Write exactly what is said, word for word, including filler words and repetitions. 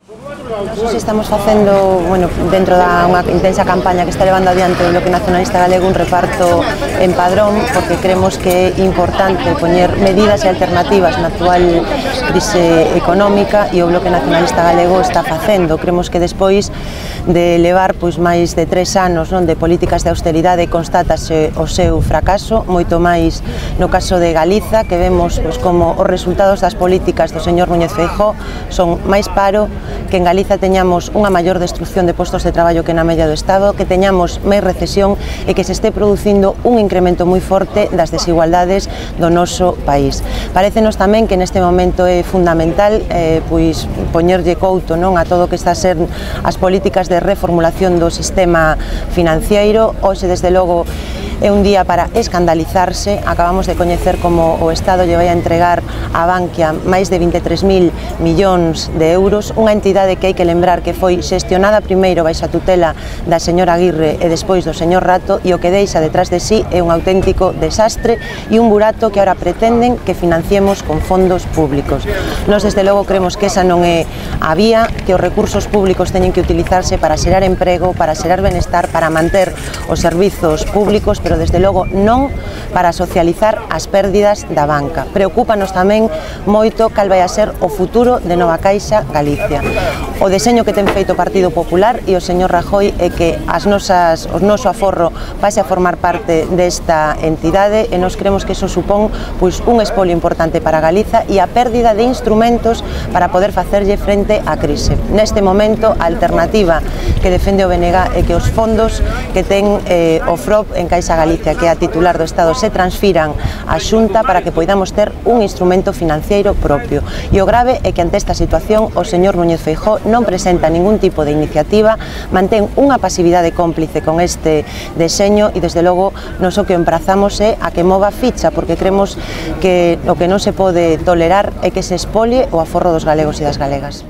Nós estamos facendo, bueno, dentro da unha intensa campaña que está levando adiante o Bloque Nacionalista Galego, un reparto en padrón, porque creemos que é importante poñer medidas e alternativas na actual crise económica, e o Bloque Nacionalista Galego está facendo. Creemos que despois de levar pois máis de tres anos non, de políticas de austeridade, constátase o seu fracaso, moito máis no caso de Galiza, que vemos pois, como os resultados das políticas do señor Núñez Feijóo son máis paro, que en Galiza teñamos unha maior destrucción de postos de traballo que na media do Estado, que teñamos máis recesión e que se este producindo un incremento moi forte das desigualdades do noso país. Parécenos tamén que neste momento é fundamental eh, pois, poñerlle couto non, a todo o que está a ser as políticas de reformulación do sistema financiero. Hoxe, desde logo, é un día para escandalizarse. Acabamos de coñecer como o Estado lle vai a entregar a Bankia máis de vinte e tres mil millóns de euros, unha entidade que hai que lembrar que foi xestionada primeiro baixo a tutela da señora Aguirre e despois do señor Rato, e o que deixa detrás de sí é un auténtico desastre e un burato que ahora pretenden que financiemos con fondos públicos. Nós, desde logo, creemos que esa non é a vía, que os recursos públicos teñen que utilizarse para xerar emprego, para xerar benestar, para manter os servizos públicos, pero desde logo non para socializar as pérdidas da banca. Preocúpanos tamén moito cal vai a ser o futuro de Nova Caixa Galicia. O deseño que ten feito o Partido Popular e o señor Rajoy é que as nosas, o noso aforro pase a formar parte desta entidade, e nós creemos que eso supón pois, un espolio importante para Galiza e a pérdida de instrumentos para poder facerlle frente á crise. Neste momento, a alternativa que defende o B N G é que os fondos que ten eh, o F R O B en Caixa Galicia, que é a titular do Estado, se transfiran á Xunta para que poidamos ter un instrumento financiero propio. E o grave é que ante esta situación o señor Núñez Feijóo non presenta ningún tipo de iniciativa, mantén unha pasividade cómplice con este deseño, e desde logo nos o que emprazamos é a que mova ficha, porque creemos que o que non se pode tolerar é que se expolie o aforro dos galegos e das galegas.